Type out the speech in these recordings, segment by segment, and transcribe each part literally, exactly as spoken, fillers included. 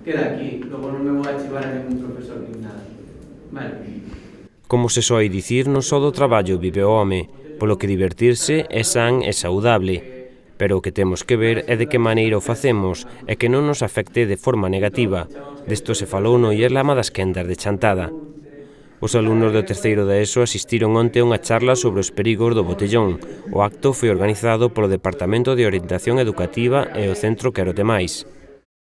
queda aquí, logo non me vou a chivar a ningún profesor nin nada. Vale. Como se soe dicir, non só do traballo vive o home, polo que divertirse é san e saudable, pero o que temos que ver é de que maneira o facemos e que non nos afecte de forma negativa. Desto se falou no Ierlama das quendas de Chantada. Os alumnos do terceiro da ESO asistiron onte a unha charla sobre os perigos do botellón. O acto foi organizado polo Departamento de Orientación Educativa e o Centro Quero Te Máis.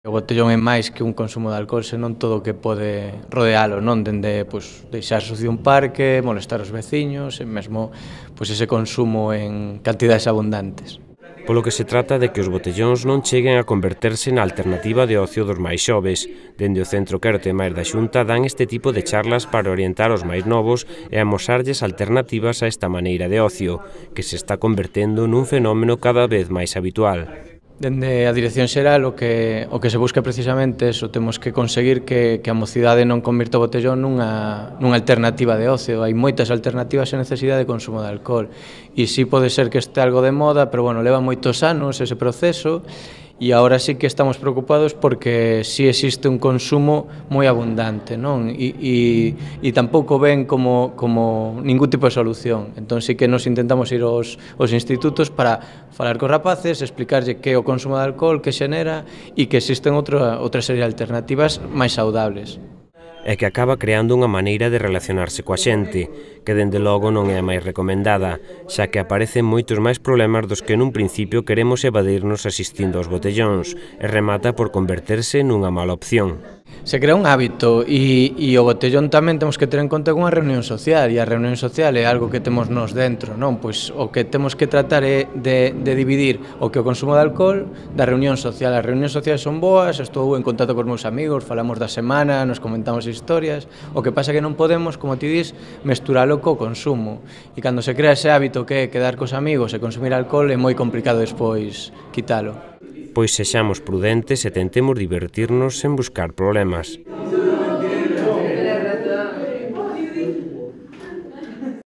O botellón é máis que un consumo de alcohol, senón todo o que pode rodealo, non? Dende, pois, deixar sucio un parque, molestar os veciños, e mesmo, pois, ese consumo en cantidades abundantes. Polo que se trata de que os botellóns non cheguen a converterse na alternativa de ocio dos máis xoves. Dende o Centro Quero Te Máis da Xunta dan este tipo de charlas para orientar os máis novos e amosarlles alternativas a esta maneira de ocio, que se está convertendo nun fenómeno cada vez máis habitual. Dende a Dirección Xeral o que, o que se busca precisamente eso, temos que conseguir que, que a mocidade non convirta o botellón nunha, nunha alternativa de ocio. Hai moitas alternativas sen necesidade de consumo de alcohol e si pode ser que este algo de moda, pero bueno, leva moitos anos ese proceso e agora sí que estamos preocupados porque sí existe un consumo moi abundante, non? E, e, e tampouco ven como, como ningún tipo de solución. Entón sí que nos intentamos ir aos, aos institutos para falar cos rapaces, explicarlle que é o consumo de alcohol, que xenera e que existen outra, outra serie de alternativas máis saudables. E que acaba creando unha maneira de relacionarse coa xente, que dende logo non é a máis recomendada, xa que aparecen moitos máis problemas dos que nun principio queremos evadirnos asistindo aos botellóns, e remata por converterse nunha mala opción. Se crea un hábito e, e o botellón tamén temos que ter en conta unha reunión social, e a reunión social é algo que temos nos dentro, non? Pois o que temos que tratar é de, de dividir o que o consumo de alcohol da reunión social. As reunións sociais son boas, estou en contacto cos meus amigos, falamos da semana, nos comentamos historias, o que pasa que non podemos, como ti dis, mesturalo co consumo. E cando se crea ese hábito que é quedar cos amigos e consumir alcohol é moi complicado despois quitalo. Pois sexamos prudentes e tentemos divertirnos sen buscar problemas.